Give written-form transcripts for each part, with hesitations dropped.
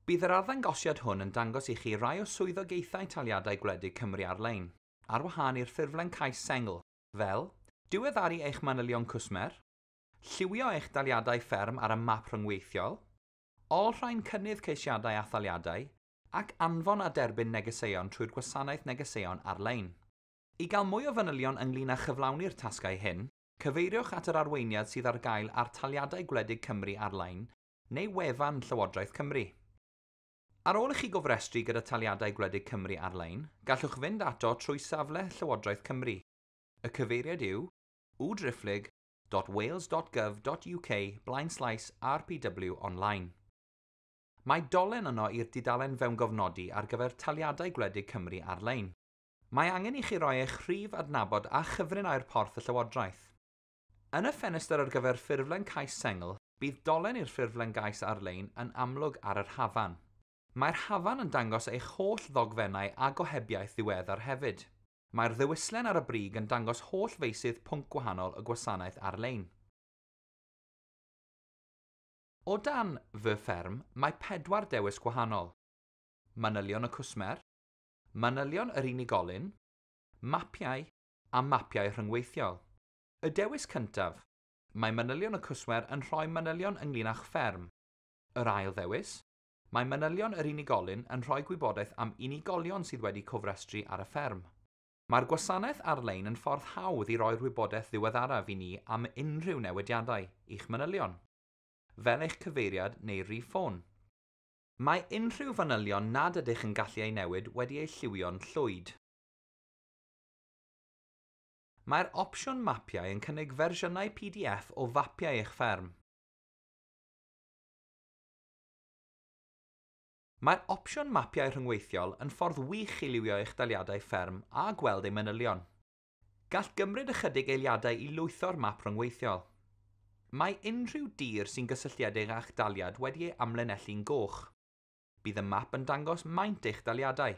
Bydd yr arddangosiad hwn yn dangos i chi rai o swyddogaethau Taliadau Gwledig Cymru ar-lein, ar wahân i'r ffurflen cais sengl, fel diweddaru eich manylion cwsmer, lliwio eich daliadau fferm ar y map rhyngweithiol, olrhain cynnydd ceisiadau a thaliadau, ac anfon a derbyn negeseuon trwy'r gwasanaeth negeseuon ar-lein. I gael mwy o fanylion ynglŷn â chyflawni'r tasgau hyn, cyfeiriwch at yr arweiniad sydd ar gael ar Taliadau Gwledig Cymru ar-lein neu wefan Llywodraeth Cymru. Ar ôl i chi gofrestru gyda Taliadau Gwledig Cymru ar-lein, gallwch fynd ato trwy safle Llywodraeth Cymru. Y cyfeiriad yw www.wales.gov.uk/rpw online. Mae dolen yno i'r dudalen fewngofnodi ar gyfer Taliadau Gwledig Cymru ar-lein. Mae angen i chi roi eich rhif adnabod a chyfrinair porth y Llywodraeth. Yn y ffenestr ar gyfer ffurflen cais sengl, bydd dolen i'r ffurflen gais ar-lein yn amlwg ar yr hafan. Mae'r hafan yn dangos eich holl ddogfennau a gohebiaeth ddiweddar hefyd. Mae'r ddewislen ar y brig yn dangos holl feysydd pwnc gwahanol y gwasanaeth ar-lein. O dan Fy Fferm, mae 4 dewis gwahanol. Manylion y cwsmer, manylion yr unigolyn, mapiau a mapiau rhyngweithiol. Y dewis cyntaf, mae manylion y cwsmer yn rhoi manylion ynglŷn â'ch fferm. Yr ail ddewis, mae manylion yr unigolyn yn rhoi gwybodaeth am unigolion sydd wedi cofrestru ar y fferm. Mae'r gwasanaeth ar-lein yn ffordd hawdd i roi'r wybodaeth ddiweddaraf i ni am unrhyw newidiadau i'ch manylion, fel eich cyfeiriad neu rif ffôn. Mae unrhyw fanylion nad ydych yn gallu eu newid wedi eu lliwio'n llwyd. Mae'r opsiwn mapiau yn cynnig fersiynau PDF o fapiau eich fferm. Mae'r opsiwn mapiau rhyngweithiol yn ffordd wych i liwio eich daliadau fferm a gweld eu manylion. Gall gymryd ychydig eiliadau i lwytho'r map rhyngweithiol. Mae unrhyw dir sy'n gysylltiedig â'ch daliad wedi ei amlinellu'n goch. Bydd y map yn dangos maint eich daliadau.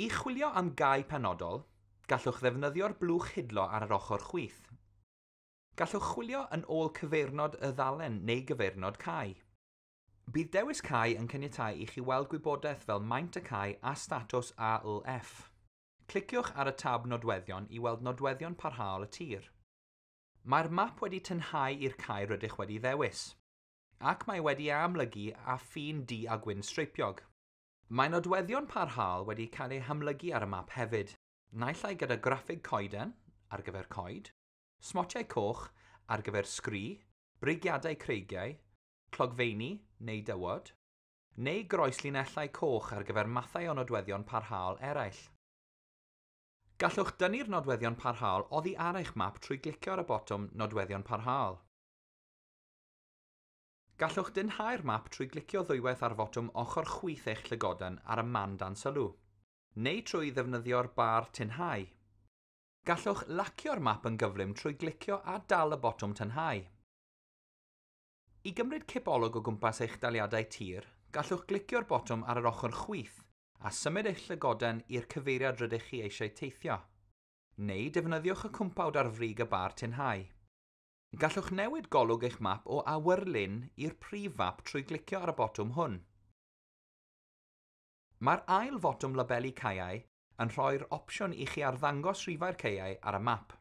I chwilio am gae penodol, gallwch ddefnyddio'r blwch hidlo ar yr ochr chwith. Gallwch chwilio yn ôl cyfeirnod y ddalen neu gyfeirnod cae. Bydd dewis cae yn caniatáu i chi weld gwybodaeth fel maint y cae a statws ALF. Cliciwch ar y tab nodweddion i weld nodweddion parhaol y tir. Mae'r map wedi tynhau i'r cae rydych wedi ddewis, ac mae wedi ei amlygu â ffin du a gwyn streipiog. Mae nodweddion parhaol wedi cael eu hamlygu ar y map hefyd, naill ai gyda graffig coeden ar gyfer coed, smotiau coch ar gyfer sgri, brigiadau creigiau, clogfeini neu dywod, neu groeslinellau coch ar gyfer mathau o nodweddion parhaol eraill. Gallwch dynnu'r nodweddion parhaol oddi ar eich map trwy glicio ar y botwm Nodweddion Parhaol. Gallwch dynhau'r map trwy glicio ddwywaith ar fotwm ochr chwith eich llygoden ar y man dan sylw, neu trwy ddefnyddio'r bar tynhau. Gallwch lacio'r map yn gyflym trwy glicio a dal y botwm tynhau. I gymryd cipolwg o gwmpas eich daliadau tir, gallwch glicio'r botwm ar yr ochr chwith a symud eich llygoden i'r cyfeiriad rydych chi eisiau teithio, neu defnyddiwch y cwmpawd ar frig y bar tynhau. Gallwch newid golwg eich map o awyrlun i'r prif fap trwy glicio ar y botwm hwn. Mae'r ail fotwm labelu caeau yn rhoi'r opsiwn i chi arddangos rhifau'r caeau ar y map.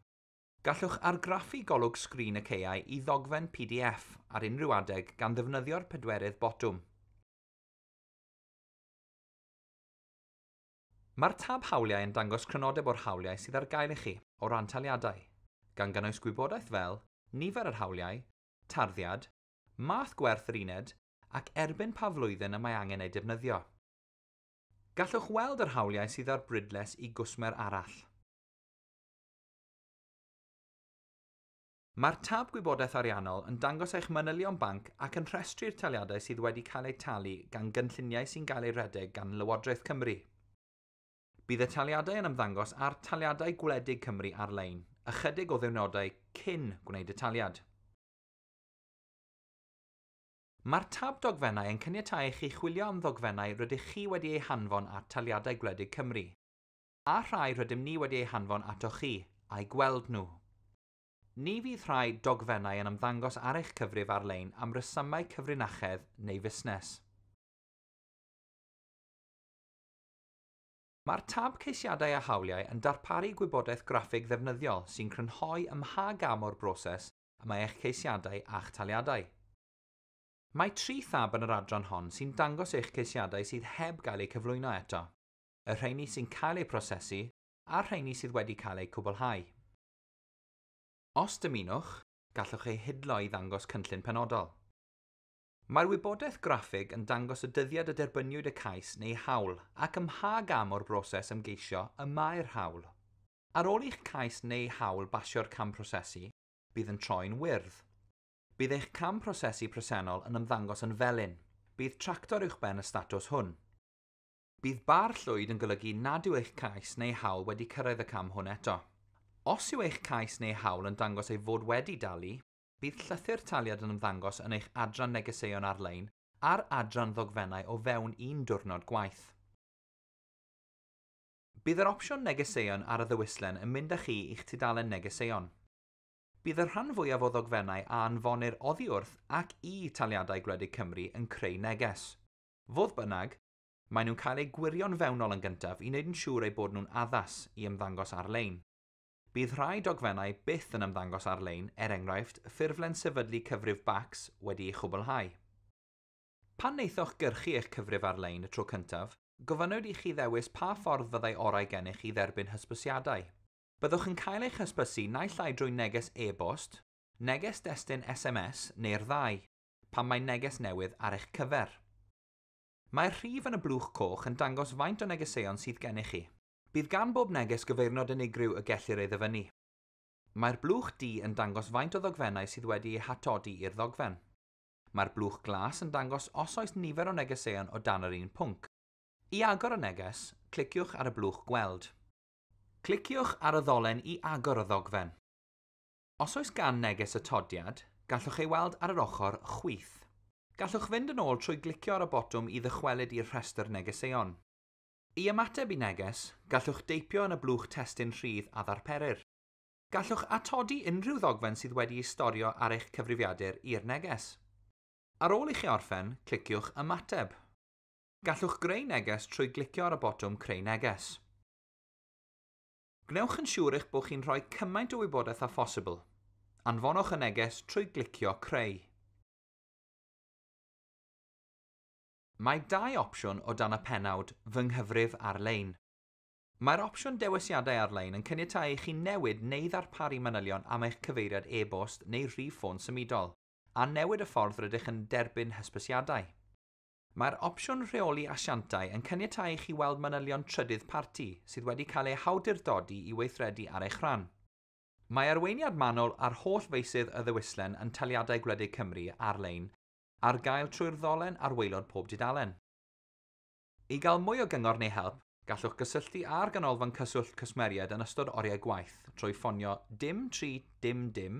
Gallwch argraffu golwg sgrin y caeau i ddogfen PDF ar unrhyw adeg gan ddefnyddio'r pedwerydd botwm. Mae'r tab hawliau yn dangos crynodeb o'r hawliau sydd ar gael i chi o ran taliadau, gan gynnwys gwybodaeth fel nifer yr hawliau, tarddiad, math gwerth yr uned ac erbyn pa flwyddyn y mae angen eu defnyddio. Gallwch weld yr hawliau sydd ar brydles i gwsmer arall. Mae'r tab gwybodaeth ariannol yn dangos eich manylion banc ac yn rhestru'r taliadau sydd wedi cael eu talu gan gynlluniau sy'n cael eu rhedeg gan Lywodraeth Cymru. Bydd y taliadau yn ymddangos ar Taliadau Gwledig Cymru ar-lein, ychydig o ddiwrnodau cyn gwneud y taliad. Mae'r tab dogfennau yn caniatáu i chi chwilio am ddogfennau rydych chi wedi eu hanfon at Taliadau Gwledig Cymru, a rhai rydym ni wedi eu hanfon atoch chi, a'u gweld nhw. Ni fydd rhai dogfennau yn ymddangos ar eich cyfrif ar-lein am resymau cyfrinachedd neu fusnes. Mae'r tab Ceisiadau a Hawliau yn darparu gwybodaeth graffig ddefnyddiol sy'n crynhoi ym mha gam o'r broses y mae eich ceisiadau a'ch taliadau. Mae tri thab yn yr adran hon sy'n dangos eich ceisiadau sydd heb gael eu cyflwyno eto, y rheini sy'n cael eu prosesu a'r rheini sydd wedi cael eu cwblhau. Os dymunwch, gallwch eu hidlo i ddangos cynllun penodol. Mae'r wybodaeth graffig yn dangos y dyddiad y derbyniwyd y cais neu hawl ac ym mha gam o'r broses ymgeisio y mae'r hawl. Ar ôl i'ch cais neu hawl basio'r cam prosesu, bydd yn troi'n wyrdd. Bydd eich cam prosesu presennol yn ymddangos yn felyn. Bydd tractor uwchben y statws hwn. Bydd bar llwyd yn golygu nad yw eich cais neu hawl wedi cyrraedd y cam hwn eto. Os yw eich cais neu hawl yn dangos ei fod wedi dalu, bydd llythyr taliad yn ymddangos yn eich adran negeseuon ar-lein a'r adran ddogfennau o fewn un diwrnod gwaith. Bydd yr opsiwn negeseuon ar y ddewislen yn mynd â chi i'ch tudalen negeseuon. Bydd y rhan fwyaf o ddogfennau a anfonir oddi wrth ac i Taliadau Gwledig Cymru yn creu neges. Fodd bynnag, maen nhw'n cael eu gwirio'n fewnol yn gyntaf i wneud yn siŵr eu bod nhw'n addas i ymddangos ar-lein. Bydd rhai dogfennau byth yn ymddangos ar-lein, er enghraifft, ffurflen sefydlu cyfrif BACS wedi ei chwblhau. Pan wnaethoch gyrchu eich cyfrif ar-lein y tro cyntaf, gofynnwyd i chi ddewis pa ffordd fyddai orau gennych i dderbyn hysbysiadau. Byddwch yn cael eich hysbysu naill ai drwy neges e-bost, neges destun SMS neu'r ddau, pan mae neges newydd ar eich cyfer. Mae'r rhif yn y blwch coch yn dangos faint o negeseuon sydd gennych chi. Bydd gan bob neges gyfeirnod unigryw y gellir ei ddyfynnu. Mae'r blwch du yn dangos faint o ddogfennau sydd wedi eu hatodi i'r ddogfen. Mae'r blwch glas yn dangos os oes nifer o negeseuon o dan yr un pwnc. I agor y neges, cliciwch ar y blwch gweld. Cliciwch ar y ddolen i agor y ddogfen. Os oes gan neges atodiad, gallwch ei weld ar yr ochr chwith. Gallwch fynd yn ôl trwy glicio ar y botwm i ddychwelyd i'r rhestr negeseuon. I ymateb i neges, gallwch deipio yn y blwch testun rhydd a ddarperir. Gallwch atodi unrhyw ddogfen sydd wedi ei storio ar eich cyfrifiadur i'r neges. Ar ôl i chi orffen, cliciwch Ymateb. Gallwch greu neges trwy glicio ar y botwm Creu Neges. Gwnewch yn siŵr eich bod chi'n rhoi cymaint o wybodaeth â phosibl. Anfonwch y neges trwy glicio Creu. Mae dau opsiwn o dan y pennawd Fy Nghyfrif Ar-lein. Mae'r opsiwn dewisiadau ar-lein yn caniatáu i chi newid neu ddarparu manylion am eich cyfeiriad e-bost neu rhif ffôn symudol, a newid y ffordd rydych yn derbyn hysbysiadau. Mae'r opsiwn rheoli asiantau yn caniatáu i chi weld manylion trydydd parti sydd wedi cael eu hawdurdodi i weithredu ar eich rhan. Mae arweiniad manwl ar holl feysydd y ddewislen yn Taliadau Gwledig Cymru ar-lein ar gael trwy'r ddolen ar waelod pob dudalen. I gael mwy o gyngor neu help, gallwch gysylltu â'r Ganolfan Cyswllt Cwsmeriaid yn ystod oriau gwaith trwy ffonio dim 3 dim dim,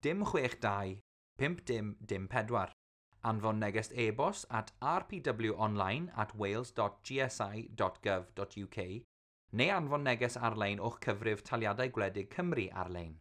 dim 62, 5 dim dim 4. Anfon neges e-bost at rpwonline@wales.gsi.gov.uk neu anfon neges ar-lein o'ch cyfrif Taliadau Gwledig Cymru ar-lein.